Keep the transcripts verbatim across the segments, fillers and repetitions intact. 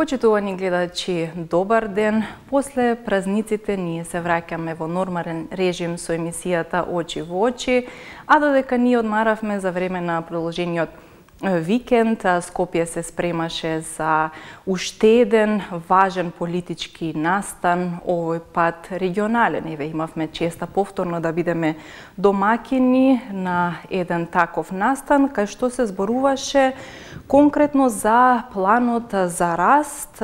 Почитувани гледачи, добар ден. После празниците ние се враќаме во нормален режим со емисијата Очи во очи, а додека ние одмаравме за време на продолжениот викенд, Скопје се спремаше за уште еден важен политички настан, овој пат регионален. Еве имавме честа повторно да бидеме домакини на еден таков настан, кај што се зборуваше конкретно за планот за раст.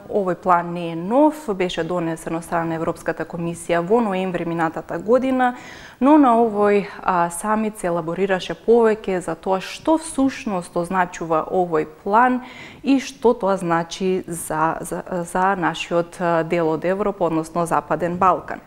Овој план не е нов, беше донесен од страна на Европската комисија во ноември минатата година, но на овој а, самит се елаборираше повеќе за тоа што всушност означува овој план и што тоа значи за, за, за нашиот дел од Европа, односно Западен Балкан.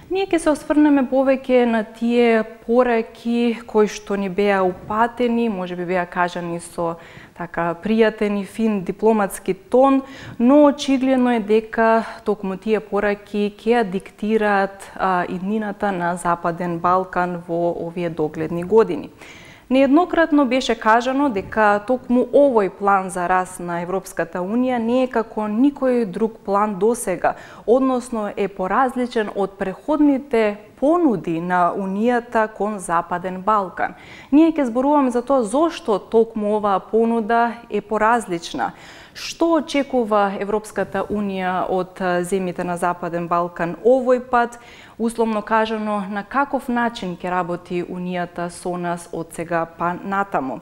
Ние ќе се осврнеме повеќе на тие пораки кои што ни беа упатени, можеби беа кажани со така пријатен и фин дипломатски тон, но очигледно е дека токму тие пораки ќе диктираат а, иднината на Западен Балкан во овие догледни години. Нееднократно беше кажано дека токму овој план за раст на Европската Унија не е како никој друг план досега, односно е поразличен од преходните понуди на Унијата кон Западен Балкан. Ние ќе зборуваме за тоа зошто токму оваа понуда е поразлична. Што очекува Европската Унија од земјите на Западен Балкан овој пат? Условно кажано, на каков начин ќе работи Унијата со нас од сега па натаму.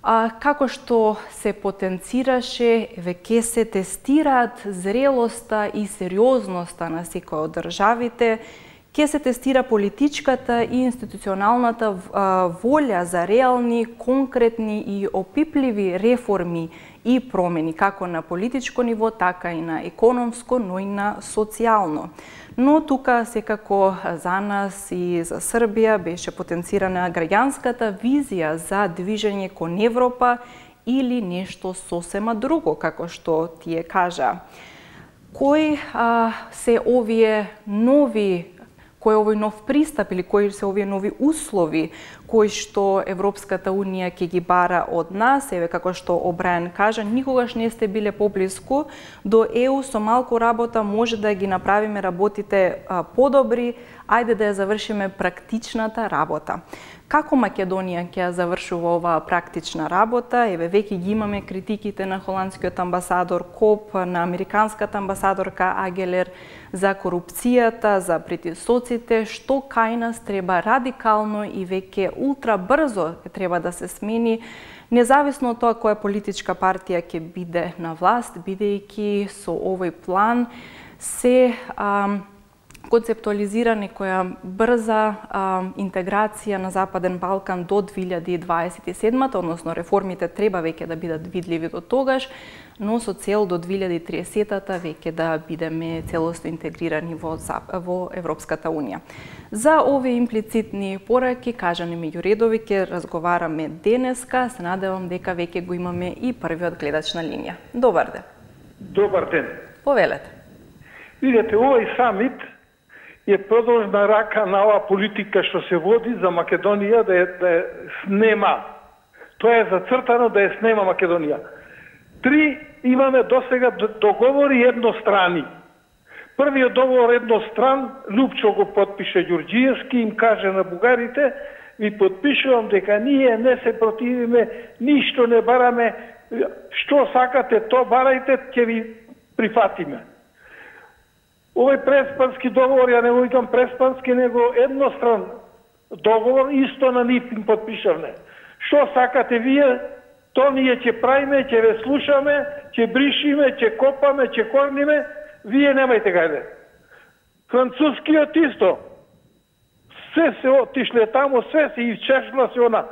А, како што се потенцираше, веќе се тестираат зрелоста и сериозноста на секој од државите, ќе се тестира политичката и институционалната волја за реални, конкретни и опипливи реформи и промени, како на политичко ниво, така и на економско, но и на социјално. Но тука секако за нас и за Србија беше потенцирана граѓанската визија за движење кон Европа или нешто сосема друго, како што тие кажа. Кои а, се овие нови кој е овој нов пристап или кои се овие нови услови кои што Европската Унија ќе ги бара од нас? Еве како што Обрајан кажа, никогаш не сте биле поблиску до Е У, со малку работа може да ги направиме работите а, подобри, ајде да ја завршиме практичната работа. Како Македонија ќе ја завршува оваа практична работа? Еве веќе ги имаме критиките на холандскиот амбасадор Коп, на американската амбасадорка Агелер за корупцијата, за притисоците, што кај нас треба радикално и веќе ултра брзо треба да се смени, независно од тоа која политичка партија ќе биде на власт, бидејќи со овој план се а, концептуализира некоја брза а, интеграција на Западен Балкан до две илјади дваесет и седма, односно реформите треба веќе да бидат видливи до тогаш, но со цел до две илјади триесета веќе да бидеме целосно интегрирани во, во Европската Унија. За овие имплицитни пораки, кажани меѓу редови, ќе разговараме денеска. Се надевам дека веќе го имаме и првиот гледач на линија. Добар ден. Добар ден. Повелете. Видете, овој самит е продолжна рака на оваа политика што се води за Македонија да ја, да ја снема. Тоа е зацртано да ја снема Македонија. Три имаме досега договори еднострани. Првиот договор едностран, Лупчо го подпише Ѓурѓиевски, им каже на бугарите, ви подпишувам дека ние не се противиме, ништо не бараме, што сакате, то барајте, ќе ви прифатиме. Овој преспански договор, ја не го викам преспански, него едностран договор, исто на НИП им подпишавме. Што сакате вие, то ние ќе правиме, ќе ве слушаме, ќе бришиме, ќе копаме, ќе корниме, вие немајте гајде. Францускиот исто. Се се отишле тамо, се се исчешла се она.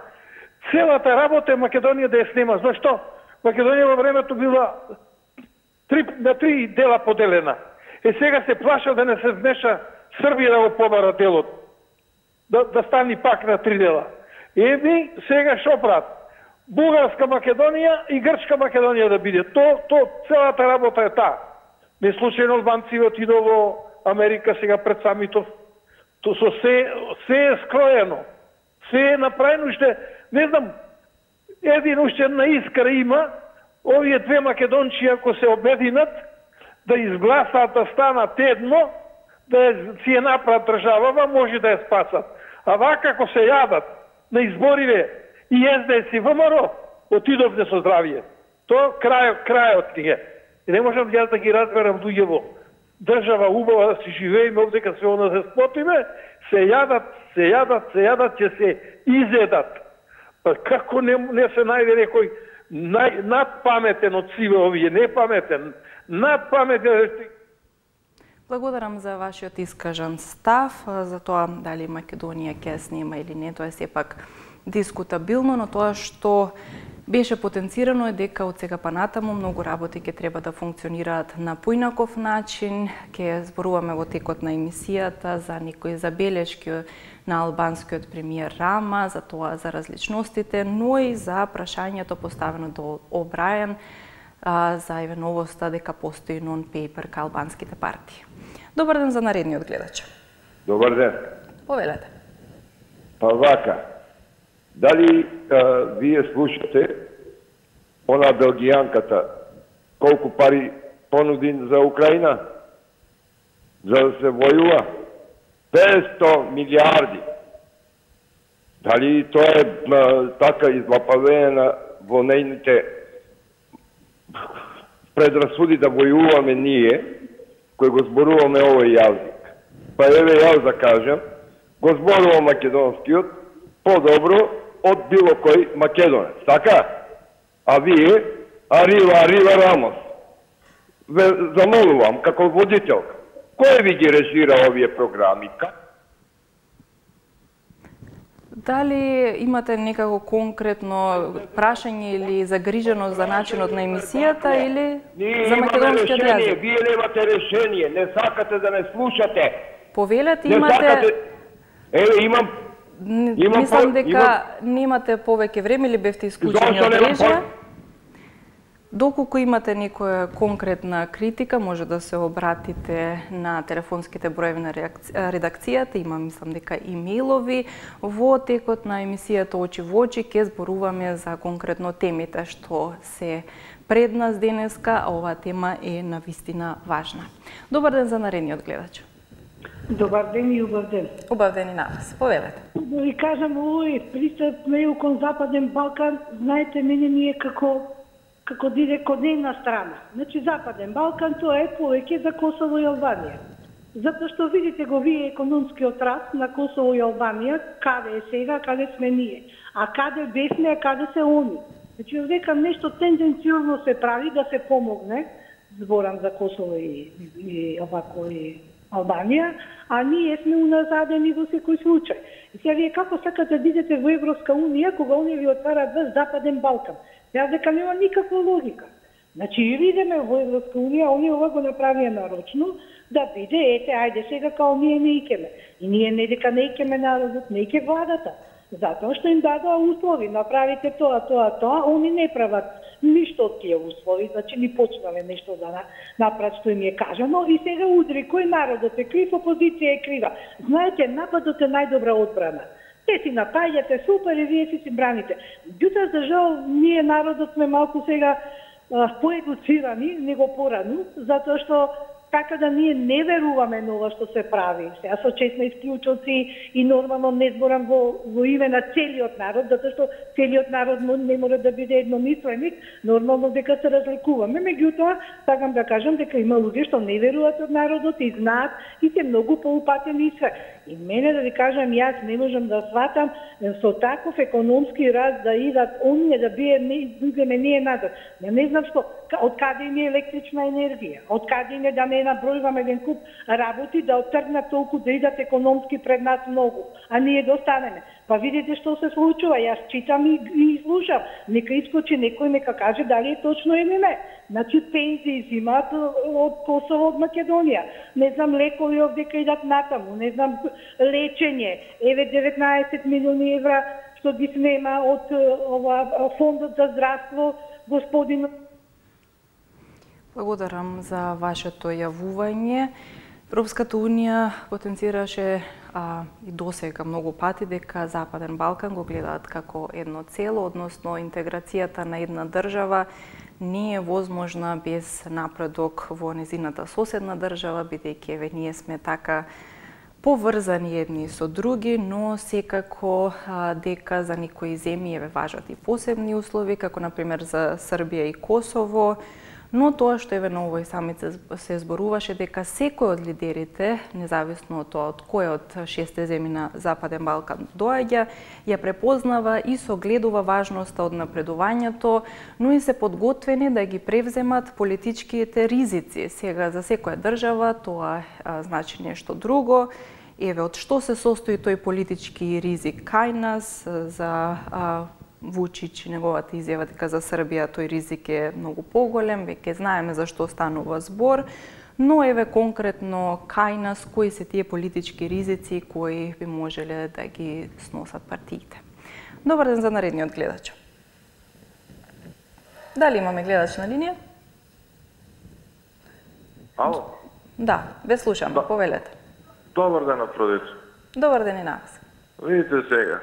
Целата работа е Македонија да ја снема. Зашто? Македонија во времето била три, на три дела поделена. Е сега се плаша да не се вмеша Србија да го побара делот. Да, да стани пак на три дела. Еби сега шо прават? Бугарска Македонија и Грчка Македонија да биде. То, то целата работа е таа. Не случајно албанци отидо во Америка сега пред самитов. То со се, се е скроено. Се е направено уште, не знам, един уште на искра има, овие две Македончи ако се обединат, да изгласаат да станат едно, да си ја направат државава, може да ја спасат. А вака ако се јадат на избориве и Ес Де Ес и ВМРО, отидовте со здравие. Тоа крајот, крајот ни е. И не можам јас да ги разберам луѓево. Држава убава да си живееме овде кога се она се спотиме, се јадат, се јадат, се јадат, ќе се изедат. Па како не, не се најде некој нај, надпаметен од сиве овие, не паметен, надпаметен. Благодарам за вашиот искажан став, за тоа дали Македонија ќе снема или не, тоа е сепак дискутабилно, но тоа што беше потенцирано е дека од сега па натаму многу работи ќе треба да функционираат на поинаков начин. Ќе зборуваме во текот на емисијата за некои забелешки на албанскиот премиер Рама, за тоа за различностите, но и за прашањето поставено до Обрајан за евеновоста дека постои нон-пейпер ка албанските партии. Добар ден за наредниот гледач. Добар ден. Повелете. Па вака, дали а, вие слушате она белгијанката колку пари понуди за Украина за да се војува? петsto милиарди. Дали тоа е а, така излапавена во нејните предрасуди да војуваме ние, кој го зборуваме овој јазик? Па еве јас да кажем, го зборувам македонскиот подобро од било кој македонец, така? А вие, арива, арива Рамос, ве замолувам како водителка, кој ви ги режира овие програми? Дали имате некако конкретно прашање или загриженост за начинот на емисијата или Ние за македонскиот јазик? Вие немате решение, не сакате да не слушате. Повелете, Не имате... сакате... Еве, имам... имам Мислам по... дека имам... немате повеќе време или бевте исклучени од мрежа. Доколку имате некоја конкретна критика, може да се обратите на телефонските броеви на редакцијата, има мислам дека имејлови. Во текот на емисијата Очи во очи ќе зборуваме за конкретно темите што се пред нас денеска, а оваа тема е навистина важна. Добар ден за наредниот гледач. Добар ден и убав ден. Убав ден и на вас. Повелете. Да ви кажам, овој пристап на кон Западен Балкан, знаете, мене ми е како како диде код една страна. Значи, Западен Балкан, тоа е повеќе за Косово и Албанија. Затоа што видите го вие економскиот раст на Косово и Албанија, каде е сега, каде сме ние. А каде бесме, а каде се они. Значи, векам нешто тенденциозно се прави да се помогне, зборам за Косово и, и овако и Албанија, а ние сме уназадени во секој случај. И сега вие како сакате да идете во Европска унија, кога оние ви отварат вас Западен Балкан? Јас дека нема никаква логика. Значи, или идеме во Европска унија, оние ова го направија нарочно, да биде, ете, ајде сега као ние не икеме. И ние не дека не икеме народот, не ике владата. Затоа што им дадоа услови, направите тоа, тоа, тоа, они не прават ништо од тие услови, значи ни почнале нешто да направат што им е кажано и сега удри кој народот е крив, опозиција е крива. Знаете, нападот е најдобра одбрана. Те си напаѓате супер и вие си си браните. Меѓутоа, за жал, ние народот сме малку сега поедуцирани, него порано, затоа што така да ние не веруваме на ова што се прави. Сега со честни исклучоци и нормално не зборам во, во име на целиот народ, затоа што целиот народ не може да биде едномисленик, нормално дека се разликуваме. Меѓутоа, сакам да кажам дека има луѓе што не веруваат од народот и знаат и се многу поупатени и све. И мене да ви кажам, јас не можам да сватам со таков економски раст да идат оние да бие не идеме ние назад. Не, не знам што, од каде им е електрична енергија, од каде им е да не набројуваме еден куп работи да отргнат толку да идат економски пред нас многу, а ние да останеме. Па видите што се случува, јас читам и, и слушам. Нека искочи некој, нека каже дали е точно или не. Значи пензии зимаат од Косово, од Македонија. Не знам, лекови овдека идат натаму, не знам, лечење. Еве деветнаесет милиони евра што ги снема од ова фондот за здравство, господин. Благодарам за вашето јавување. Европската унија потенцираше а, и досега многу пати дека Западен Балкан го гледаат како едно цело, односно интеграцијата на една држава не е возможна без напредок во незината соседна држава, бидејќи еве ние сме така поврзани едни со други, но секако а, дека за некои земји еве важат и посебни услови, како например за Србија и Косово, но тоа што еве на овој самит се, се зборуваше дека секој од лидерите, независно од тоа од кој од шесте земји на Западен Балкан доаѓа, ја препознава и согледува важноста од напредувањето, но и се подготвени да ги превземат политичките ризици. Сега за секоја држава тоа а, значи нешто друго. Еве од што се состои тој политички ризик кај нас, за а, Вучич и неговата изјава дека за Србија тој ризик е многу поголем, веќе знаеме за што станува збор, но еве конкретно кај нас кои се тие политички ризици кои би можеле да ги сносат партиите. Добар ден за наредниот гледач. Дали имаме гледач на линија? Ало? Да, ве слушам, да. Повелете. Добар ден, Афродица. Добар ден и на вас. Видите сега,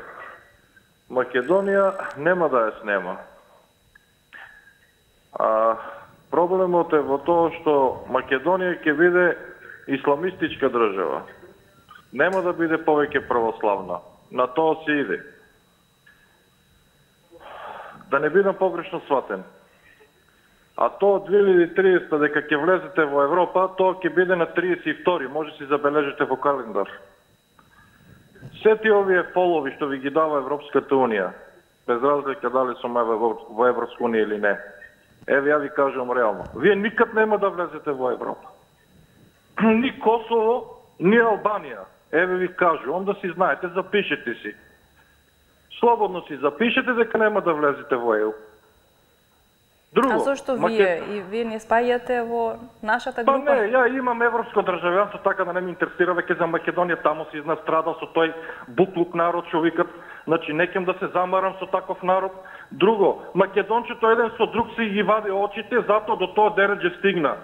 Македонија нема да ја снема. А, проблемот е во тоа што Македонија ќе биде исламистичка држава. Нема да биде повеќе православна. На тоа се иде. Да не бидам погрешно сватен. А тоа од две илјади и триесета дека ќе влезете во Европа, тоа ќе биде на триесет и втори. Може си забележите во календар. Сети овие полови што ви ги дава Европската Унија, без разлика дали сме во Европска Унија или не, еве ја ви кажам реално, вие никад нема да влезете во Европа. Ни Косово, ни Албанија. Еве ви кажу, онда си знаете, запишете си. Слободно си запишете дека нема да влезете во Е У. Друго, а зашто вие Макед... и вие не спаѓате во нашата група? Па не, ја имам европско државјанство, така да не ме интересира веќе за Македонија, таму си изнастрадал со тој буклук народ што викат, значи не ќе да се замарам со таков народ. Друго, македончето еден со друг си ги вади очите, затоа до тоа дереđe стигна.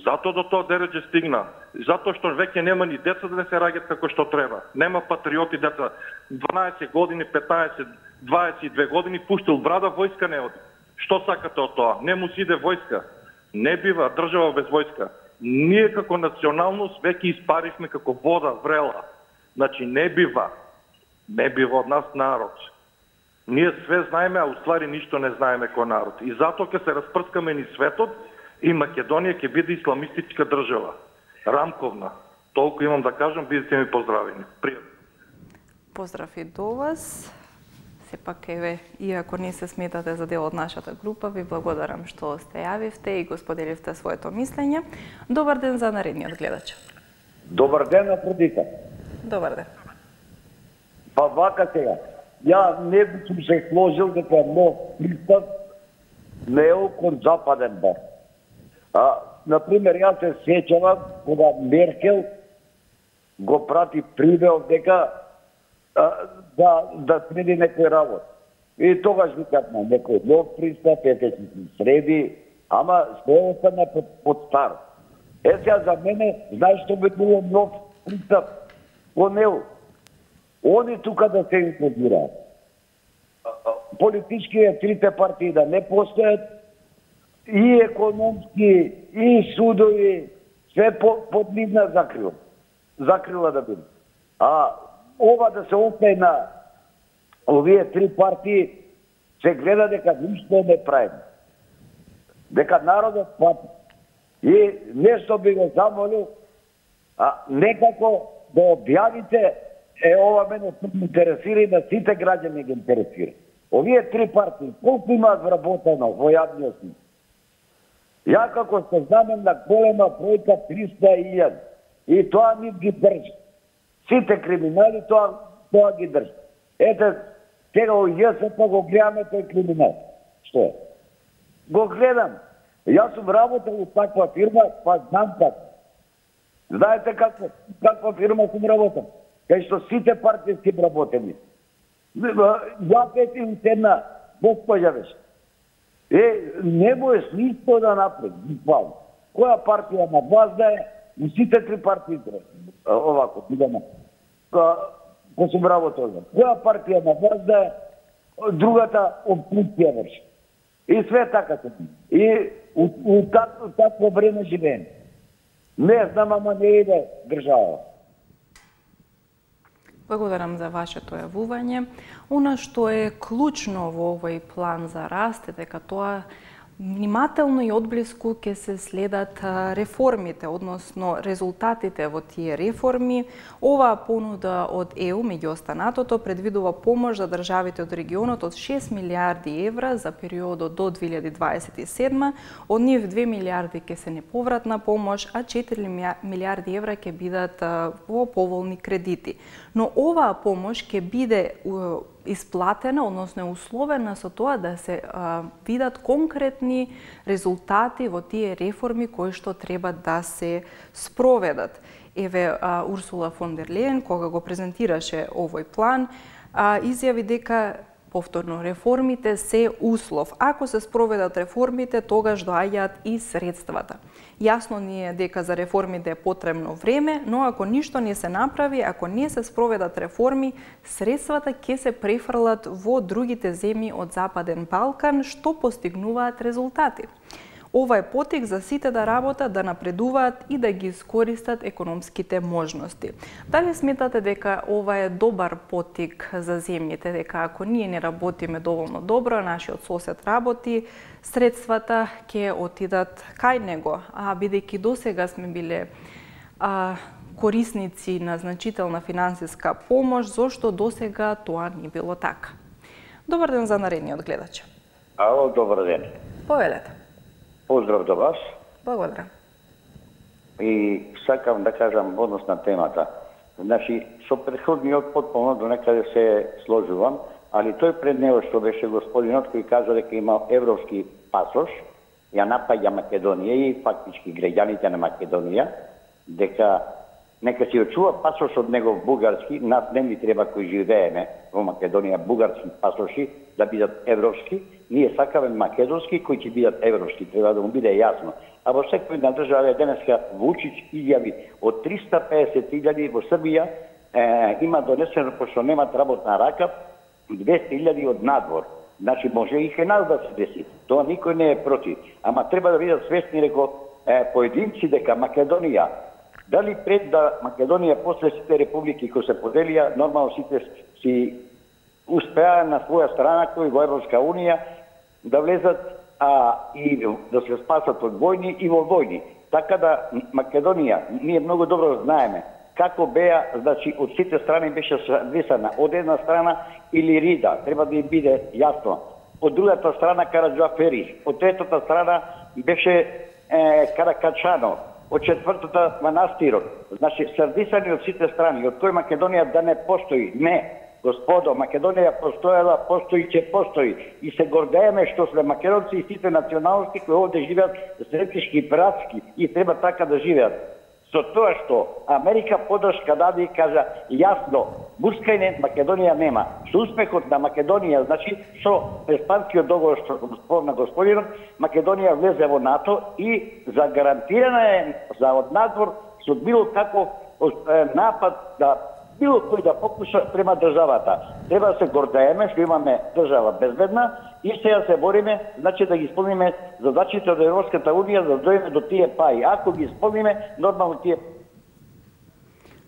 Затоа до тоа дереđe стигна. Затоа што веќе нема ни деца да не се раѓат како што треба. Нема патриоти деца. дванаесет години, петнаесет, дваесет и две години пуштил брада, војска не оди. Што сакате од тоа? Не му си иде војска. Не бива држава без војска. Ние како националност веќе испаривме како вода врела. Значи не бива. Не бива од нас народ. Ние све знаеме, а уствари ништо не знаеме кој народ. И затоа ќе се распрскаме ни светот и Македонија ќе биде исламистичка држава. Рамковна. Толку имам да кажам, бидете ми поздравени. Пријатно. Поздрав и до вас. Сепак, еве, иако не се сметате за дел од нашата група, ви благодарам што сте јавивте и го споделивте своето мислење. Добар ден за наредниот гледач. Добар ден, Афродита. Добар ден. Па вака сега, ја не би сум се сложил дека нов пристап не е кон Западен Балкан. А, например, јас се сеќавам кога Меркел го прати прибел дека а, да да среди некој работ. И тогаш викат на некој нов пристап, ете си се среди, ама се остана под, под стар. Е сега за мене, знаеш што би било нов пристап кон Е У? Они тука да се инклюдираат. Политички трите партии да не постојат, и економски, и судови, све по, под нивна закрила. Закрила да биде. А ова да се остане на овие три партии, се гледа дека ништо не правиме. Дека народот пати. И нешто би го замолил, а некако да објавите, е ова мене се интересира и на сите граѓани ги интересира. Овие три партии, колку имаат вработено во јавниот сектор? Ја како се знамем на голема бројка триста илјади. И тоа ни ги држи. Сите криминали тоа, тоа ги држи. Ете, сега у ЈСП го гледаме тој криминал. Што е? Го гледам. Јас сум работел у таква фирма, па знам како. Знаете како, каква фирма сум работел? Кај што сите партиски работени. Ја пет и една госпоѓа беше. Е, не можеш ништо да направи, буквално. Која партија на власт да е, и сите три партии овако, идеме. Ко сум работел. Која партија на власт да е, другата опозиција врши. И све така се. И у, у такво, такво време живеем. Не знам, ама не иде држава. Благодарам за вашето јавување. Она што е клучно во овој план за раст е дека тоа внимателно и одблиску ќе се следат реформите, односно резултатите во тие реформи. Оваа понуда од Е У, меѓу останатото, предвидува помош за државите од регионот од шест милијарди евра за периодот до две илјади дваесет и седма. Од нив две милијарди ќе се неповратна помош, а четири милијарди евра ќе бидат во поволни кредити. Но оваа помош ќе биде исплатена, односно условена со тоа да се а, видат конкретни резултати во тие реформи кои што треба да се спроведат. Еве а, Урсула фон дер Лејен, кога го презентираше овој план, а, изјави дека повторно реформите се услов. Ако се спроведат реформите, тогаш доаѓаат и средствата. Јасно ни е дека за реформите е потребно време, но ако ништо не се направи, ако не се спроведат реформи, средствата ќе се префрлат во другите земји од Западен Балкан, што постигнуваат резултати. Ова е потик за сите да работат, да напредуваат и да ги искористат економските можности. Дали сметате дека ова е добар потик за земјите, дека ако ние не работиме доволно добро, нашиот сосед работи, средствата ќе отидат кај него, а бидејќи досега сме биле а, корисници на значителна финансиска помош, зошто досега тоа не било така? Добар ден за наредниот гледач. Ало, добар ден. Повелете. Поздрав до вас. Благодарам. И сакам да кажам однос на темата. Значи, со претходниот потполно до некаде се сложувам, али тој пред него што беше господинот кој кажа дека има европски пасош, ја напаѓа Македонија и фактички граѓаните на Македонија, дека нека си очува пасош од него бугарски, нас не ни треба кои живееме во Македонија бугарски пасоши да бидат европски, ние сакаме македонски кои ќе бидат европски, треба да му биде јасно. А во секој на држава денеска Вучич изјави од триста песет илјади во Србија е, има донесено, пошто немат работна рака, двесте илјади од надвор. Значи може и кај нас да се деси. Тоа никој не е против. Ама треба да бидат свесни, реко, е, поединци дека Македонија, дали пред да Македонија после сите републики кои се поделија, нормално сите си успеа на своја страна кои во Европска Унија да влезат а, и да се спасат од војни и во војни. Така да Македонија, ние многу добро знаеме како беа, значи од сите страни беше висана од една страна или Рида, треба да им биде јасно. Од другата страна Караджофери, од третата страна беше е, Каракачано, од четвртата Манастирот. Значи срдисани од сите страни, од кој Македонија да не постои. Не, господо, Македонија постоела, постои, ќе постои. И се гордееме што сме македонци и сите националности кои овде живеат сретнички и братски и треба така да живеат. Со тоа што Америка подршка даде и кажа јасно, Бускајне Македонија нема. Со успехот на Македонија, значи со Преспанскиот договор што спомна господинот, Македонија влезе во НАТО и загарантирана е за однадвор со било каков напад да било кој да покуша према државата. Треба да се гордееме што имаме држава безбедна и сега се бориме, значи да ги исполниме задачите од Европската Унија за да дојдеме до тие паи. Ако ги исполниме, нормално тие.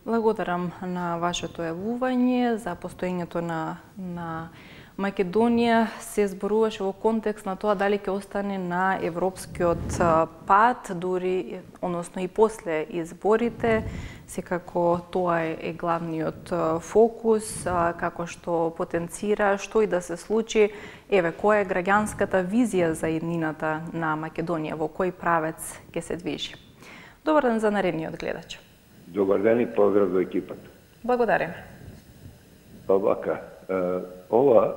Благодарам на вашето јавување за постоењето на на Македонија. Се зборуваше во контекст на тоа дали ќе остане на европскиот пат, дури, односно и после изборите. Секако тоа е, е главниот фокус, како што потенцира, што и да се случи. Еве, која е граѓанската визија за иднината на Македонија, во кој правец ќе се движи? Добар ден за наредниот гледач. Добар ден и поздрав до екипата. Благодарим. Па вака, ова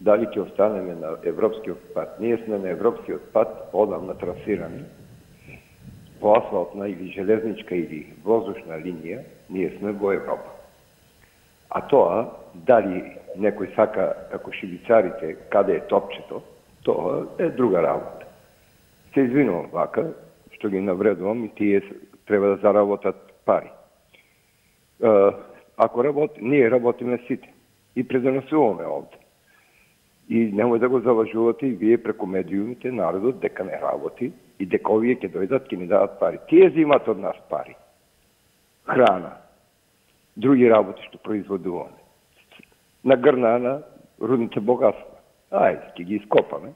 дали ќе останеме на европскиот пат? Ние сме на европскиот пат одамна трасирани. Во асфалтна или железничка или воздушна линија, ние сме во Европа. А тоа, дали некој сака, како шибицарите, каде е топчето, тоа е друга работа. Се извинувам вака, што ги навредувам и тие треба да заработат пари. Ако работи, ние работиме сите и предонесуваме овде. И немој да го залажувате и вие преку медиумите народот дека не работи и дека овие ќе дојдат, ќе ни дадат пари. Тие земат од нас пари. Храна, други работи што производуваме. На грна на рудните богатства. Ајде, ќе ги ископаме.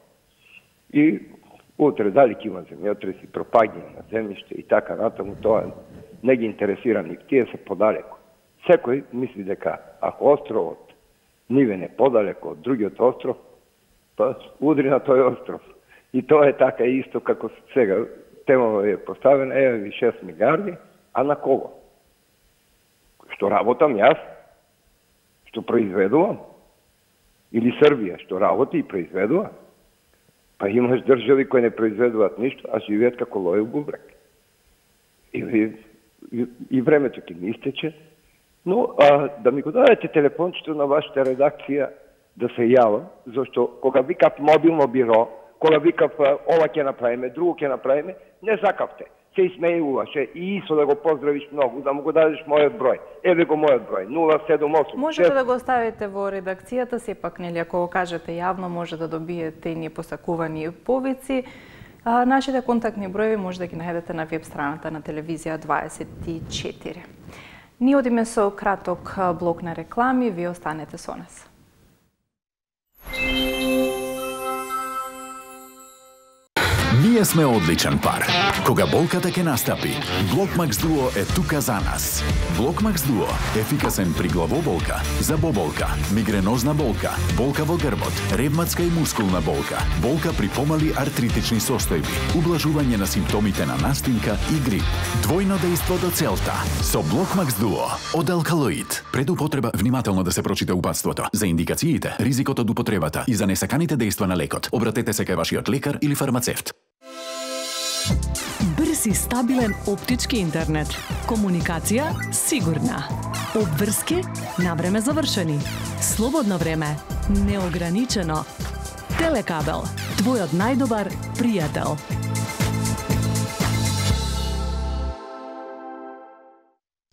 И утре дали ќе има земјотреси, пропаѓање на земјиште и така натаму, тоа не ги интересира ник, тие се подалеку. Секој мисли дека ако островот Нивен е подалеку од другиот остров, па удри на тој остров. И тоа е така исто како сега темава е поставена, еве ви шест милиарди, а на кого? Што работам јас? Што произведувам? Или Србија, што работи и произведува? Па имаш држави кои не произведуваат ништо, а живеат како лој у бубрек. И, и, и времето ќе ми истече. Но а, да ми го дадете телефончето на вашата редакција да се јавам, зашто кога викав мобилно биро, кога викав ова ќе направиме, друго ќе направиме, не закавте. Се исмејуваше и Исо да го поздравиш многу, да му го дадеш мојот број. Еве го мојот број, нула седум осум. Можете да го оставите во редакцијата, сепак нели ако го кажете јавно може да добиете и ние посакувани повици. А, нашите контактни броеви може да ги најдете на веб страната на телевизија дваесет и четири. Ние одиме со краток блок на реклами, вие останете со нас. Ние сме одличен пар. Кога болката ќе настапи, Блокмакс Дуо е тука за нас. Блокмакс Дуо ефикасен при главоболка, забоболка, мигренозна болка, болка во грбот, ревматска и мускулна болка, болка при помали артритични состојби, ублажување на симптомите на настинка и грип. Двојно дејство до целта со Блокмакс Дуо од алкалоид. Пред употреба внимателно да се прочита упатството. За индикациите, ризикот од употребата и за несаканите дејства на лекот, обратете се кај вашиот лекар или фармацевт. Брз и стабилен оптички интернет. Комуникација сигурна. Обврски на време завршени. Слободно време неограничено. Телекабел, твојот најдобар пријател.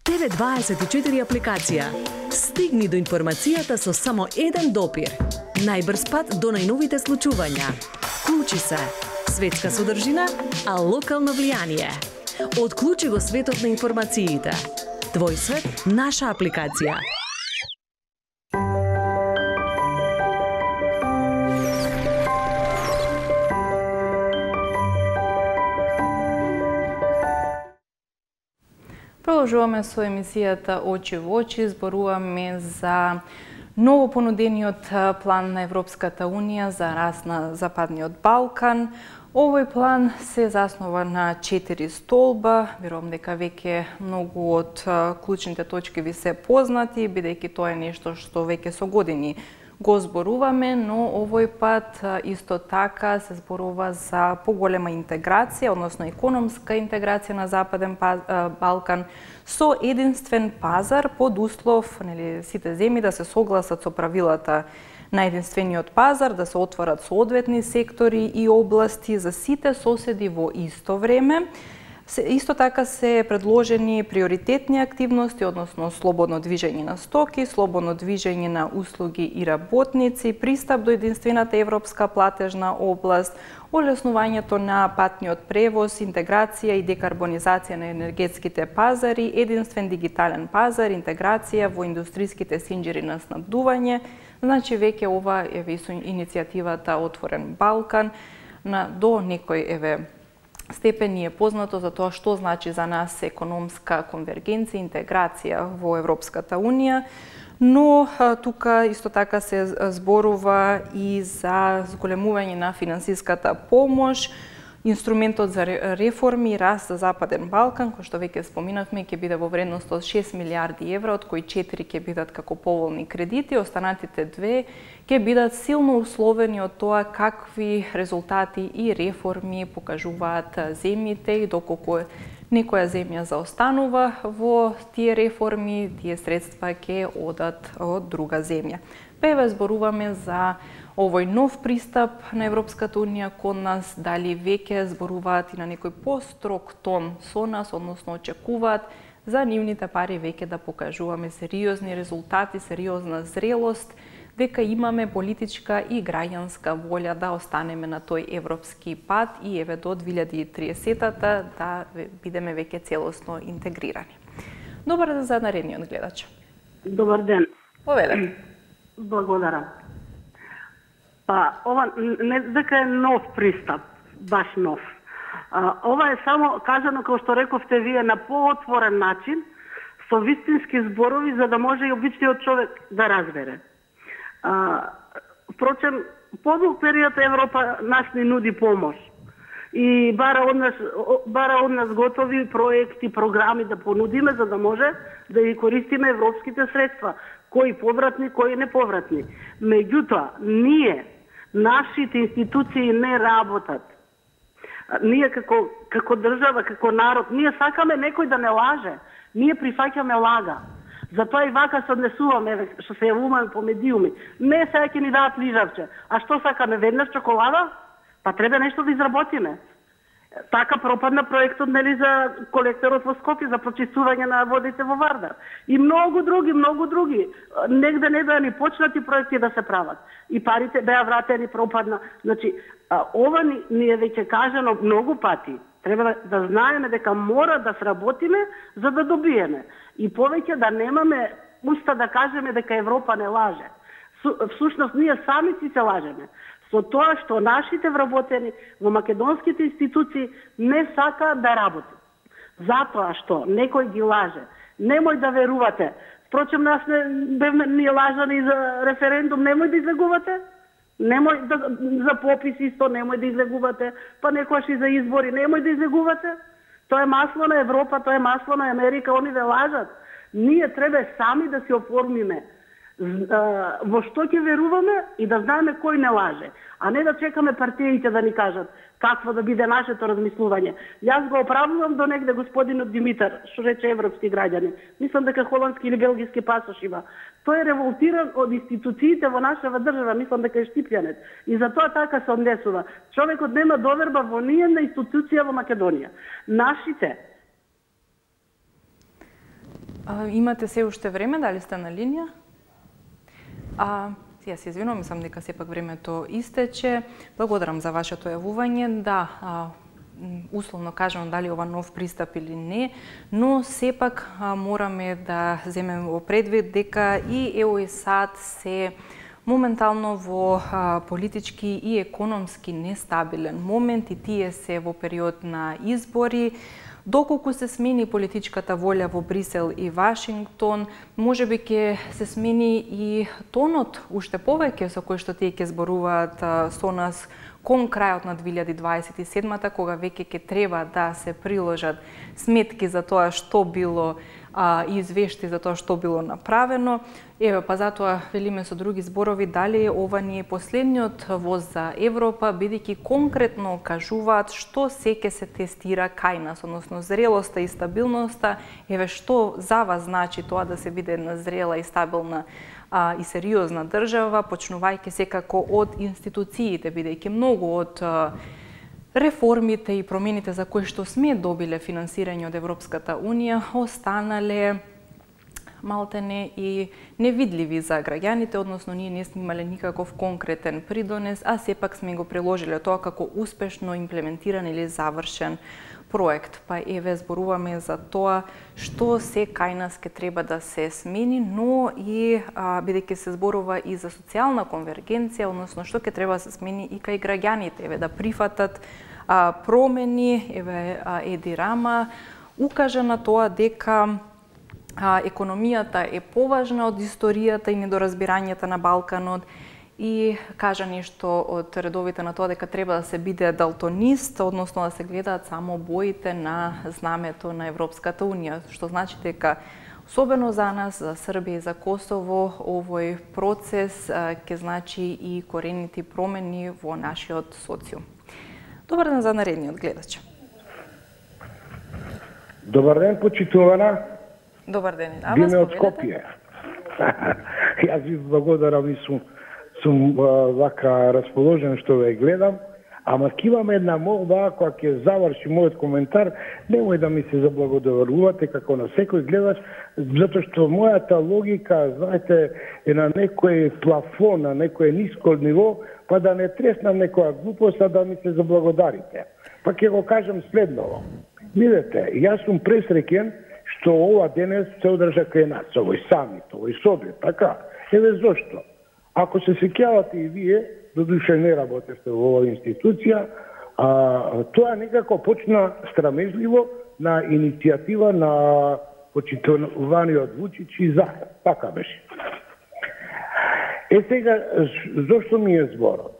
Т В дваесет и четири апликација. Стигни до информацијата со само еден допир. Најбрз пат до најновите случувања. Вклучи се. Светска содржина, а локално влијание. Отклучи го светот на информациите. Твој свет, наша апликација. Продолжуваме со емисијата Очи во очи, зборуваме за ново понудениот план на Европската Унија за раст на Западниот Балкан. Овој план се заснова на четири столба. Верувам дека веќе многу од клучните точки ви се познати, бидејќи тоа е нешто што веќе со години го зборуваме, но овој пат исто така се зборува за поголема интеграција, односно економска интеграција на Западен Балкан со единствен пазар под услов, нели, сите земји да се согласат со правилата на единствениот пазар, да се отворат соодветни сектори и области за сите соседи во исто време. Исто така се предложени приоритетни активности, односно слободно движење на стоки, слободно движење на услуги и работници, пристап до единствената европска платежна област, олеснувањето на патниот превоз, интеграција и декарбонизација на енергетските пазари, единствен дигитален пазар, интеграција во индустриските синџери на снабдување. Значи веќе ова е иницијативата Отворен Балкан на до некој еве степен е познато за тоа што значи за нас економска конвергенција, интеграција во Европската Унија, но тука исто така се зборува и за зголемување на финансиската помош, инструментот за реформи и раст за Западен Балкан, кој што веќе споминавме, ќе биде во вредност од шест милиарди евра, од кои четири ќе бидат како поволни кредити, останатите две ќе бидат силно условени од тоа какви резултати и реформи покажуваат земјите и доколку некоја земја заостанува во тие реформи, тие средства ќе одат од друга земја. Певе зборуваме за овој нов пристап на Европската Унија кон нас, дали веќе зборуваат и на некој построг тон со нас, односно очекуваат за нивните пари веќе да покажуваме сериозни резултати, сериозна зрелост, дека имаме политичка и граѓанска волја да останеме на тој европски пат и еве до две илјади и триесетта да бидеме веќе целосно интегрирани. Добар ден за наредниот гледач. Добар ден. Повелете. Благодарам. Па, ова не дека е нов пристап, баш нов. А, ова е само кажано, како што рековте вие, на поотворен начин, со вистински зборови, за да може и обичниот човек да разбере. А, впрочем, подолг период Европа нас ни нуди помош. И бара од нас, бара од нас готови проекти, програми да понудиме, за да може да ги користиме европските средства, кои повратни, кои неповратни. Меѓутоа, ние, нашите институции не работат. Ние како, како држава, како народ, ние сакаме некој да не лаже. Ние прифаќаме лага. Затоа и вака се однесуваме, што се јавуваме по медиуми. Не сега ќе ни дадат лижавче. А што сакаме, веднаш чоколада? Па треба нешто да изработиме. Така пропадна проектот, нели, за колекторот во Скопје, за прочистување на водите во Вардар. И многу други, многу други. Негде не беа ни почнати проекти да се прават. И парите беа вратени, пропадна. Значи, ова ни, ни е веќе кажано многу пати. Треба да, да знаеме дека мора да сработиме за да добиеме. И повеќе да немаме уста да кажеме дека Европа не лаже. Всушност, ние сами си се лажеме. Со тоа што нашите вработени во македонските институции не сакаат да работат. Затоа што некој ги лаже. Немој да верувате. Впрочем, нас не бевме ние лажани за референдум, немој да излегувате. Немој да, за попис исто немој да излегувате, па некојаш и за избори немој да излегувате. Тоа е масло на Европа, тоа е масло на Америка, они ве лажат. Ние треба сами да се оформиме во што ќе веруваме и да знаеме кој не лаже, а не да чекаме партиите да ни кажат какво да биде нашето размислување. Јас го оправдувам до негде господинот Димитар, што рече европски граѓани. Мислам дека холандски или белгиски пасош има. Тој е револтиран од институциите во нашава држава, мислам дека е штипјанец. И затоа така се однесува. Човекот нема доверба во ниједна институција во Македонија. Нашите. А, имате се уште време, дали сте на линија? А, ја се извинувам, мислам дека сепак времето истече. Благодарам за вашето јавување. Да, а, условно кажано дали ова нов пристап или не, но сепак а, мораме да земеме во предвид дека и ЕУ и САД се моментално во а, политички и економски нестабилен момент и тие се во период на избори. Доколку се смени политичката волја во Брисел и Вашингтон, можеби ќе се смени и тонот уште повеќе со кој што тие ќе зборуваат а, со нас кон крајот на две илјади дваесет и седма, кога веќе ќе треба да се приложат сметки за тоа што било а, и извешти за тоа што било направено. Еве, па затоа велиме со други зборови дали ова не е последниот воз за Европа, бидејќи конкретно кажуваат што се ќе се тестира кај нас, односно зрелоста и стабилноста. Еве, што за вас значи тоа да се биде една зрела и стабилна а, и сериозна држава, почнувајќи секако од институциите, бидејќи многу од а, реформите и промените за кои што сме добиле финансирање од Европската Унија останале малтене и невидливи за граѓаните, односно ние не сме имале никаков конкретен придонес, а сепак сме го приложиле тоа како успешно имплементиран или завршен проект. Па еве зборуваме за тоа што се кај нас ке треба да се смени, но и бидејќи се зборува и за социјална конвергенција, односно што ке треба да се смени и кај граѓаните, еве да прифатат а, промени, еве а, Еди Рама укажа на тоа дека А, економијата е поважна од историјата и недоразбирањата на Балканот и кажа нешто од редовите на тоа дека треба да се биде далтонист, односно да се гледаат само боите на знамето на Европската Унија, што значи дека особено за нас, за Србија и за Косово, овој процес ќе значи и коренити промени во нашиот социум. Добар ден за наредниот гледач. Добар ден, почитувана. Добар ден. А Биме од Скопје. Јас ви благодарам и сум, сум вака расположен што ве гледам, Ама ќе имаме една молба, ако ќе заврши мојот коментар, немој да ми се заблагодарувате како на секој гледач, затоа што мојата логика, знаете, е на некој плафон, на некој ниско ниво, па да не треснам некоја глупост, а да ми се заблагодарите. Па ќе го кажам следново. Видете, јас сум пресреќен што ова денес се одржа кај нас, овој самит, овој собјет, така. Еве зошто? Ако се сеќавате и вие, додуше не работевте во оваа институција, а, тоа некако почна страмежливо на иницијатива на почитуваниот Вучич и Захар. Така беше. Е сега, зошто ми е зборот?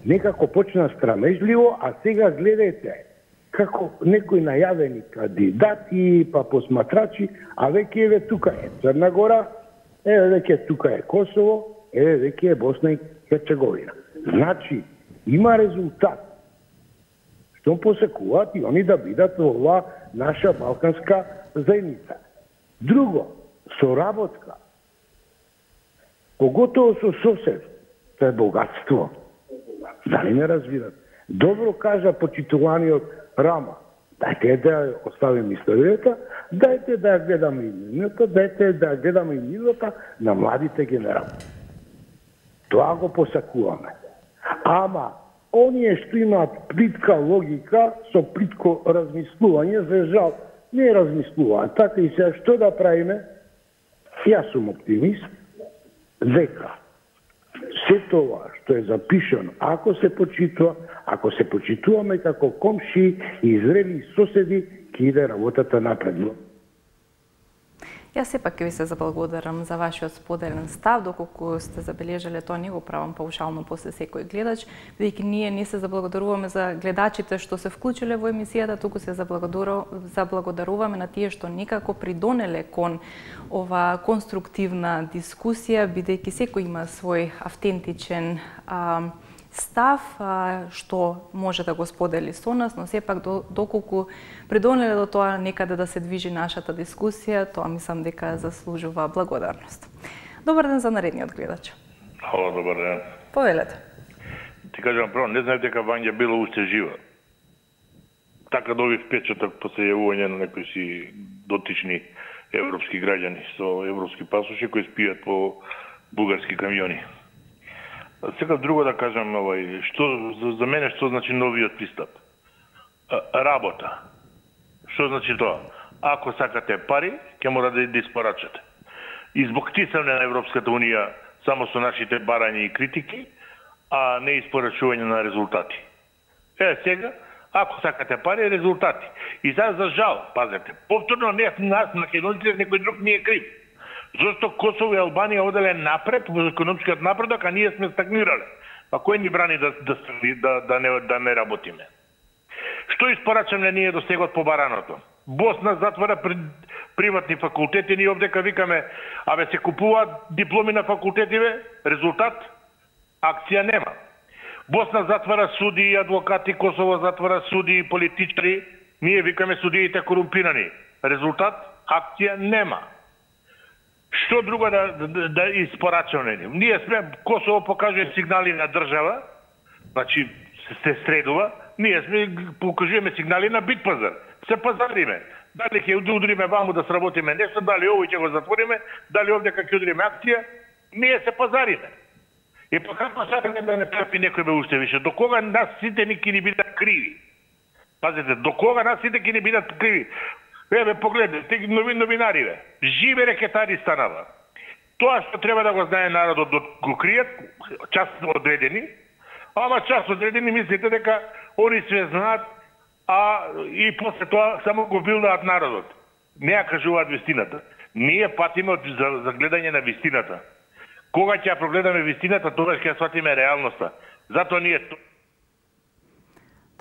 Некако почна страмежливо, а сега гледајте како некои најавени кандидати, па посматрачи, а веќе еве тука е Црна Гора, еве веќе тука е Косово, еве веќе е Босна и Херцеговина. Значи, има резултат. Што посекуваат и они да бидат во ова наша балканска заедница. Друго, соработка. Поготово со сосед, тоа е богатство. Дали не разбират? Добро кажа почитуваниот Рама. Дајте да ја оставим историјата, дајте да ја гледаме и минута, дајте да ја гледаме и минута на младите генерали. Тоа го посакуваме. Ама, оние што имаат плитка логика, со плитко размислување, за жал, не размислуваат. Така и сега, што да правиме? Јас сум оптимист, дека се тоа што е запишано, ако се почитува, ако се почитуваме како комши и зрели соседи, ќе иде работата напредно. Јас сепак ќе ви се заблагодарам за вашиот споделен став, доколку сте забележале тоа не го правам паушално после секој гледач, бидејќи ние не се заблагодаруваме за гледачите што се вклучиле во емисијата, туку се заблагодаруваме на тие што некако придонеле кон ова конструктивна дискусија, бидејќи секој има свој автентичен а, став што може да го сподели со нас, но сепак доколку придонеле до тоа некаде да се движи нашата дискусија, тоа мислам дека заслужува благодарност. Добар ден за наредниот гледач. Ало, добар ден. Повелете. Ти кажам прво, не знаев дека Вања Бело уште жива. Така добив впечаток после јавување на некои си дотични европски граѓани со европски пасоши кои спијат по бугарски камиони. Сега друго да кажам, овај, што за, за мене што значи новиот пристап? А, работа. Што значи тоа? Ако сакате пари, ќе мора да испорачате. И због тисане на Европската унија само со нашите барања и критики, а не испорачување на резултати. Е, сега, ако сакате пари, резултати. И сега за жал, пазете, повторно не нас, македонците, некој друг не е крив. Зошто Косово и Албанија оделе напред во економскиот напредок, а ние сме стагнирале. А кој ни брани да да да, да не да не работиме? Што испорачаме ние до сегот по бараното? Босна затвора при, приватни факултети, ние овдека викаме, абе се купуваат дипломи на факултетиве, резултат акција нема. Босна затвара суди и адвокати, Косово затвара суди и политичари, ние викаме судиите корумпирани. Резултат акција нема. Што друго да, да, да испорачаме? Ние сме, Косово покажува сигнали на држава, значи се средува, ние сме покажуваме сигнали на бит пазар. Се пазариме. Дали ќе удриме ваму да сработиме нешто, дали овој ќе го затвориме, дали овде ќе удриме акција, ние се пазариме. И па како сакаме да не трпи некој бе уште више? До кога нас сите ни ќе ни бидат криви? Пазите, до кога нас сите ќе ни бидат криви? Еве, погледнете, нови новинари, живе рекетари станава. Тоа што треба да го знае народот, да го кријат, част одредени, ама част одредени мислите дека они се знаат, а и после тоа само го билдаат народот. Не ја кажуваат вистината. Ние патиме за, за гледање на вистината. Кога ќе ја прогледаме вистината, тогаш ќе ја сватиме реалноста. Затоа ние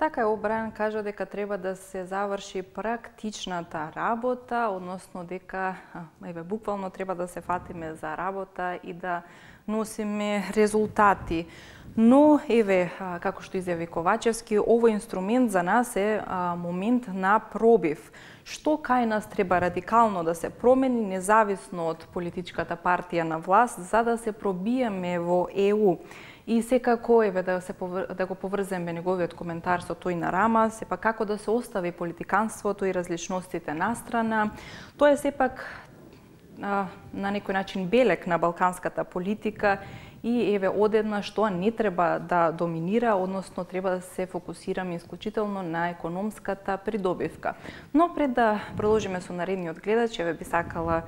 Така е, Обрајан кажа дека треба да се заврши практичната работа, односно дека, еве, буквално треба да се фатиме за работа и да носиме резултати. Но, еве, како што изјави Ковачевски, овој инструмент за нас е а, момент на пробив. Што кај нас треба радикално да се промени, независно од политичката партија на власт, за да се пробиеме во Е У. И секако еве да се да го поврземе неговиот коментар со тој на Рама, сепак како да се остави политиканството и различностите настрана. Тоа е сепак а, на некој начин белек на балканската политика и еве одеднаш тоа не треба да доминира, односно треба да се фокусираме исклучително на економската придобивка. Но пред да продолжиме со наредниот гледач, еве би сакала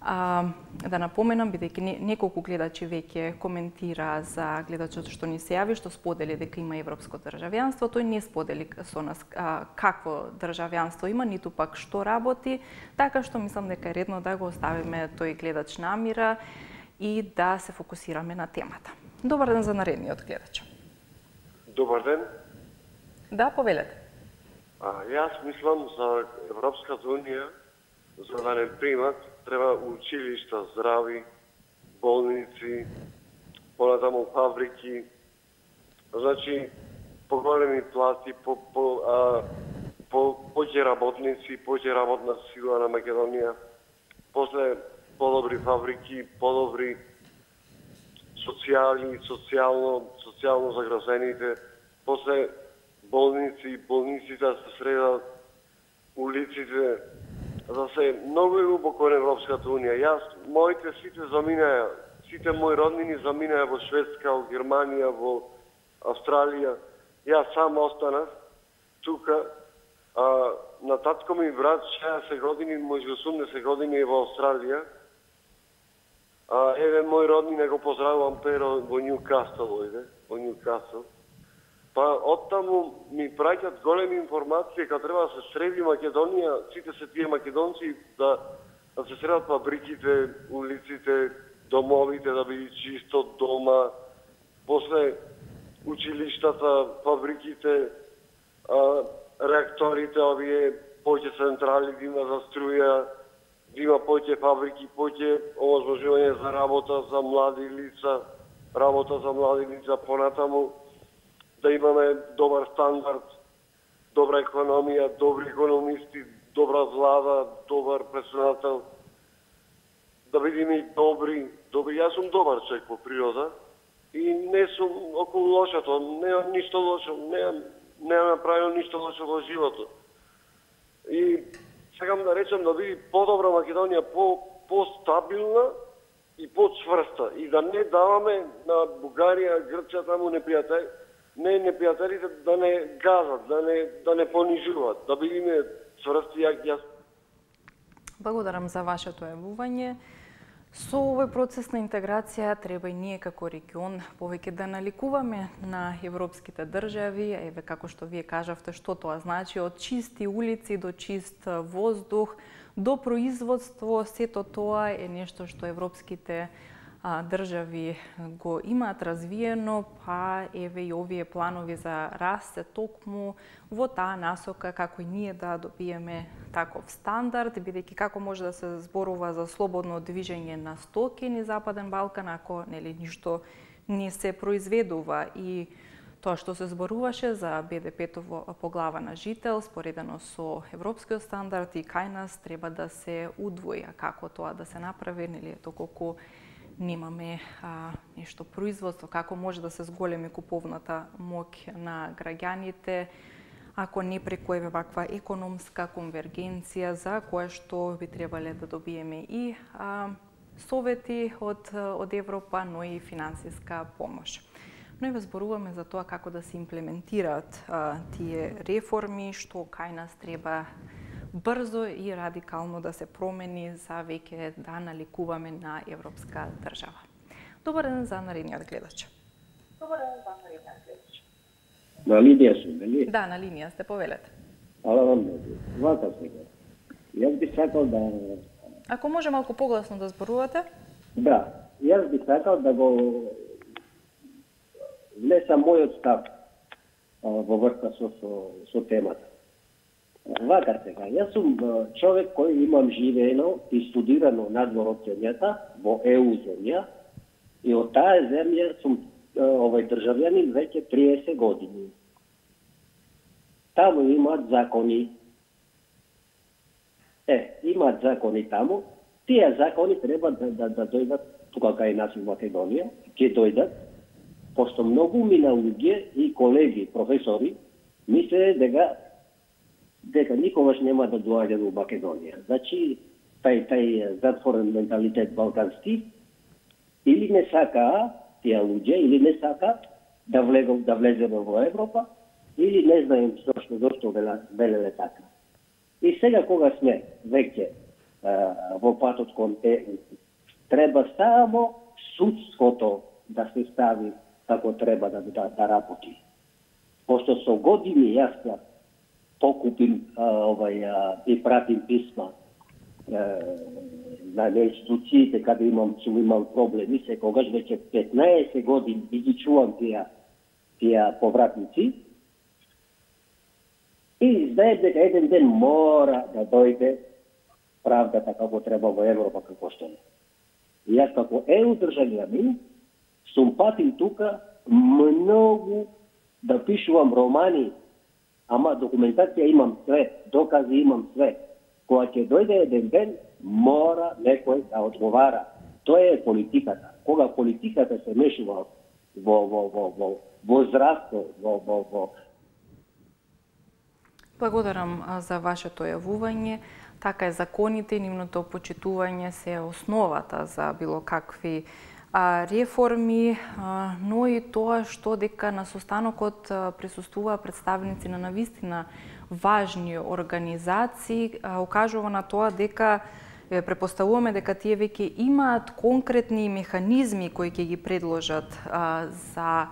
а, да напоменам, бидејќи неколку гледачи веќе коментира за гледачот што ни се јави, што сподели дека има европско државјанство, тој не сподели со нас а, какво државјанство има, ниту пак што работи, така што мислам дека е редно да го оставиме тој гледач на мира и да се фокусираме на темата. Добар ден за наредниот гледач. Добар ден. Да, повелете. А, јас мислам за Европската унија, за да не примат, треба училишта, здрави, болници, понатаму фабрики, значи поголеми плати, по, по, а, по, поќе работници, поќе работна сила на Македонија, после подобри фабрики, подобри социјални, социјално, социјално загрозените, после болници, болниците да се средат, улиците, да се многу љубоко на Европската унија. Јас, моите сите заминаја, сите мои роднини заминаја во Шведска, во Германија, во Австралија. Јас сам останав тука. А, на татко ми брат шеесет години, може осумдесет години е во Австралија. А, еве мој роднина го поздравувам Перо во Ньюкасл, ојде, во Ньюкасл. Па оттаму ми праќат големи информации кога треба да се среди Македонија, сите се тие македонци да, да се средат фабриките, улиците, домовите да биде чисто дома, после училиштата, фабриките, а, реакторите, овие поќе централи да има за струја, да има поќе фабрики, поќе овозможување за работа за млади лица, работа за млади лица, понатаму да имаме добар стандард, добра економија, добри економисти, добра влада, добар председател, да бидеме добри, добри. Јас сум добар човек по природа и не сум околу лошото, немам ништо лошо, немам, немам направил ништо лошо во животот. И сакам да речам да биде подобра Македонија, по постабилна и почврста и да не даваме на Бугарија, Грција таму непријатели, не непријателите да не газат, да не да не понижуваат, да бидеме цврсти јак јас. Благодарам за вашето јавување. Со овој процес на интеграција треба и ние како регион повеќе да наликуваме на европските држави, еве како што вие кажавте што тоа значи, од чисти улици до чист воздух, до производство, сето тоа е нешто што европските а, држави го имаат развиено, па еве и овие планови за раст се токму во таа насока како и ние да добиеме таков стандард, бидејќи како може да се зборува за слободно движење на стоки низ Западен Балкан ако нели ништо не се произведува и тоа што се зборуваше за Б Д П-то по глава на жител, споредено со европскиот стандард и кај нас треба да се удвои, а како тоа да се направи, нели доколку немаме а, нешто производство, како може да се зголеми куповната моќ на граѓаните, ако не преку еве ваква економска конвергенција за која што би требале да добиеме и а, совети од, од Европа, но и финансиска помош. Но и зборуваме за тоа како да се имплементираат а, тие реформи, што кај нас треба брзо и радикално да се промени за веќе да наликуваме на европска држава. Добар ден за наредниот гледач. Добар ден за наредниот гледач. На линија сум, нели? Да, на линија сте, повелете. Ала вам, вака сега. Јас би сакал да... Ако може малку погласно да зборувате? Да, јас би сакал да го внесам мојот став во врска со, со, со темата. Вака сега, јас сум човек кој имам живеено и студирано надвор од земјата, во Е У земја, и од таа земја сум овој државјанин веќе триесет години. Таму имаат закони. Е, имаат закони таму. Тие закони треба да, да, да дојдат тука кај нас во Македонија, ќе дојдат Посто многу мина луѓе и колеги, професори, мисле дека дека никогаш нема да доаѓа до Македонија. Значи, тај тај затворен менталитет балкански, или не сака тие луѓе, или не сака да влегам да влеземе во Европа, или не знаем зошто зошто велеле така. И сега кога сме веќе во патот кон ЕУ, треба само судството да се стави како треба да да, да работи. Пошто со години јас покупим а, овај а, и пратим писма а, на институциите каде имам сум имал проблеми, секогаш веќе петнаесет години и ги чувам тие тие повратници. И знаем дека еден ден мора да дојде правдата како треба во Европа како што е. И јас како ЕУ државјанин сум патил тука многу да пишувам романи, ама документација имам све, докази имам све. Кога ќе дојде еден ден, мора некој да одговара. Тоа е политиката. Кога политиката се мешува во во во во во здравство, во во во Благодарам за вашето јавување. Така е, законите и нивното почитување се основата за било какви а, реформи, а, но и тоа што дека на состанокот присуствува представници на навистина важни организации, а, укажува на тоа дека препоставуваме дека тие веќе имаат конкретни механизми кои ќе ги предложат а, за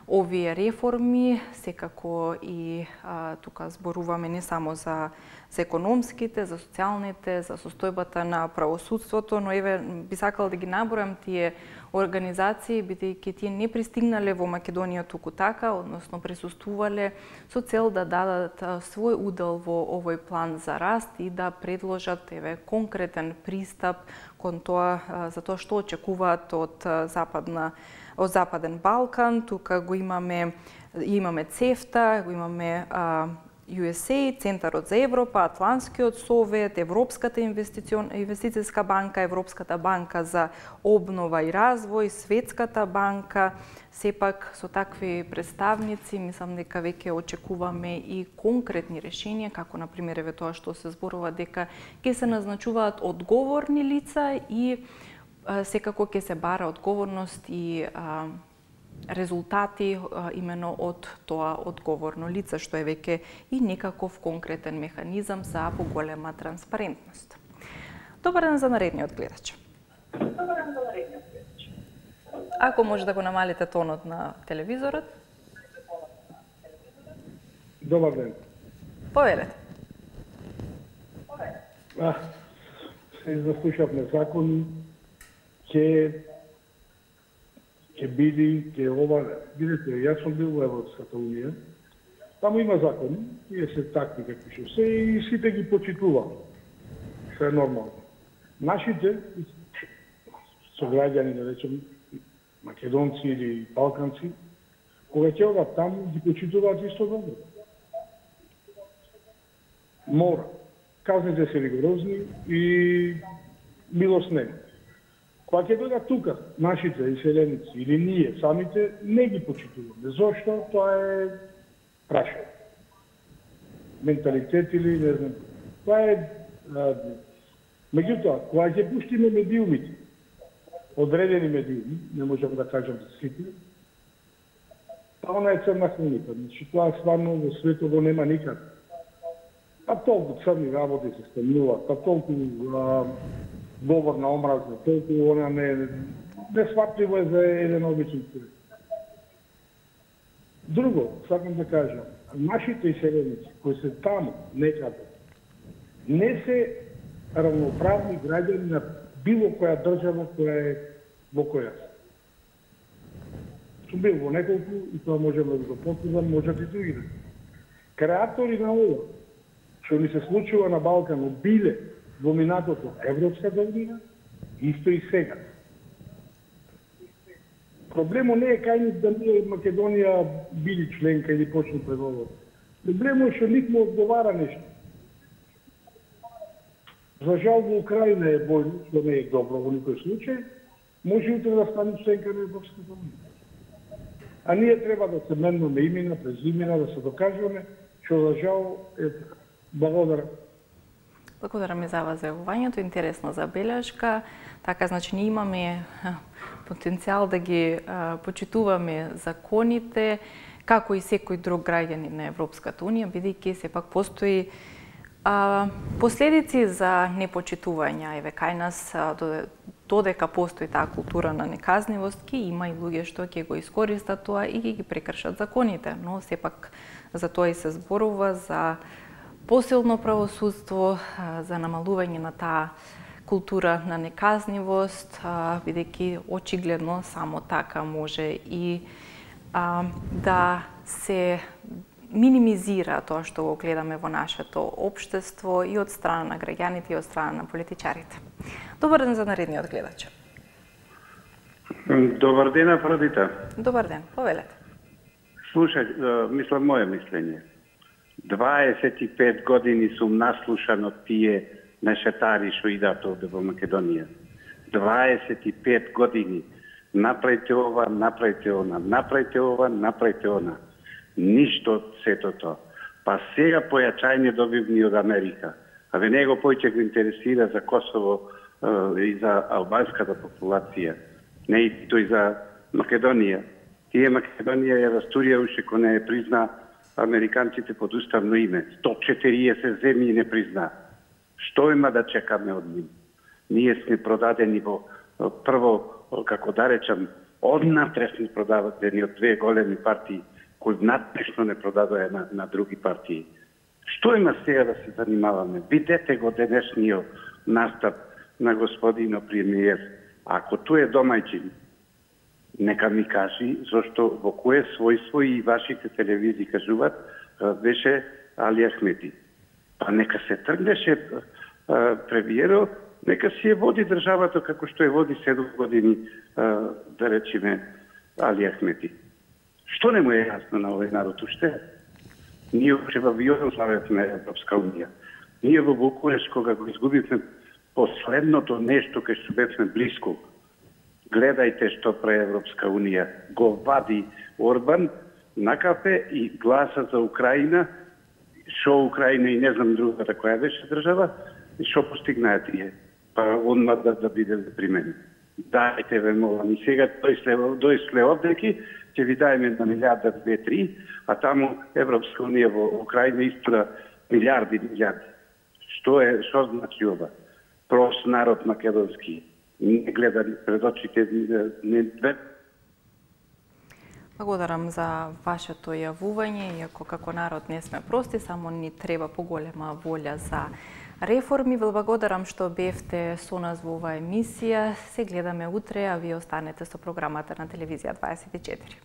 овие реформи, секако и а, тука зборуваме не само за, за економските, за социјалните, за состојбата на правосудството, но еве би сакал да ги набројам тие организации, бидејќи тие не пристигнале во Македонија туку така, односно присуствувале со цел да дадат свој удел во овој план за раст и да предложат еве конкретен пристап кон тоа за тоа што очекуваат од западна од Западен Балкан. Тука го имаме имаме ЦЕФТА, го имаме а, ю ес ей, Центарот за Европа, Атлантскиот совет, Европската инвестицијска банка, Европската банка за обнова и развој, Светската банка. Сепак со такви представници мислам дека веќе очекуваме и конкретни решенија, како на пример еве тоа што се зборува дека ќе се назначуваат одговорни лица и секако ќе се бара одговорност и а, резултати а, имено од тоа одговорно лице, што е веќе и некаков конкретен механизам за поголема транспарентност. Добар ден за наредниот гледач. Добар ден за наредниот гледач. Ако може да го намалите тонот на телевизорот. Добар ден. Повелете. А, се заслушавме закони, ќе ќе биде, ќе ова, видите, јас сум бил во Европската унија, таму има закони, тие се такви какви што се и сите ги почитувам. Се е нормално. Нашите сограѓани, да речем, македонци или балканци, кога ќе одат таму, ги почитуваат исто добро. Мора. Казните се ригорозни и милост нема. Кога ќе дојдат тука, нашите иселеници или ние самите, не ги почитуваме. Зошто? Тоа е прашање. Менталитет или не знам. Тоа е... А, меѓутоа, кога ќе пуштиме медиумите, одредени медиуми, не можам да кажам за сите, па она е црна хроника. Значи, тоа стварно во светот го нема никаде. Па толку црни работи се стануваат, па толку... А, говор на омраза, толку она не несватливо е за еден обичен човек. Друго, сакам да кажам, нашите иселеници кои се таму некаде не се равноправни граѓани на било која држава која е во која се. Сум бил во неколку и тоа можем да го потврдам, можат и други. Креатори на ова, што ни се случува на Балканот, биле во минатото Европската унија, исто и сега. Проблемот не е кај нив да ние Македонија били членка или почне преговор. Проблемот е што никому одговара нешто. За жал во Украина е бојно, што не е добро во никој случај, може утре да стане членка на Европската унија. А ние треба да се менуваме имена, презимена, да се докажуваме, што за жал е така. Благодарам. Благодарам и за вас за јавувањето, интересна забелешка. Така, значи, ние имаме потенцијал да ги а, почитуваме законите, како и секој друг граѓанин на Европската Унија, бидејќи сепак постои а, последици за непочитување. Еве, кај нас, а, додека постои таа култура на неказнивост, ќе има и луѓе што ќе го искористат тоа и ќе ги прекршат законите. Но сепак за тоа и се зборува, за посилно правосудство, за намалување на таа култура на неказнивост, бидејќи очигледно само така може и а, да се минимизира тоа што го гледаме во нашето општество и од страна на граѓаните и од страна на политичарите. Добар ден за наредниот гледач. Добар ден, Афродита. Добар ден, повелете. Слушај, мислам моје мислење. дваесет и пет години сум наслушан од тие мешетари што идат овде во Македонија. дваесет и пет години. Направите ова, направите она, направите ова, направите она. Ништо од сето тоа. Па сега појачање добивни од Америка. А ве него појќе го интересира за Косово е, и за албанската популација. Не и тој за Македонија. Тие Македонија ја растурија уште кој не е призна американците под уставно име. сто четириесет земји не призна. Што има да чекаме од нив? Ние сме продадени во прво, како да речам, однатре сме продадени од две големи партии, кои надпрешно не продадоа на, на други партии. Што има сега да се занимаваме? Видете го денешниот настап на господино премиер. Ако тој е домајчин, нека ми кажи зашто во кое својство и вашите телевизии кажуваат беше Али Ахмети. Па нека се тргнеше премиерот, нека си ја води државата како што ја води седум години, да речеме, Али Ахмети. Што не му е јасно на овој народ уште? Ние уште во Југославија сме Европска Унија. Ние во Букуреш, кога го изгубивме последното нешто кај што бевме блиско, гледајте што прави Европска Унија. Го вади Орбан на кафе и гласа за Украина, шо Украина и не знам другата која беше држава, и шо постигнаа тие. Па онма да, да биде примен. Дајте ве молам. И сега дојсле овдеки, ќе ви дајме на милиарда, две, три, а таму Европска Унија во Украина истора милиарди, милиарди. Што е, што значи ова? Прост народ македонски. Не гледа пред очите, не две. Благодарам за вашето јавување, иако како народ не сме прости, само ни треба поголема волја за реформи. Ве благодарам што бевте со нас во оваа емисија. Се гледаме утре, а вие останете со програмата на телевизија дваесет и четири.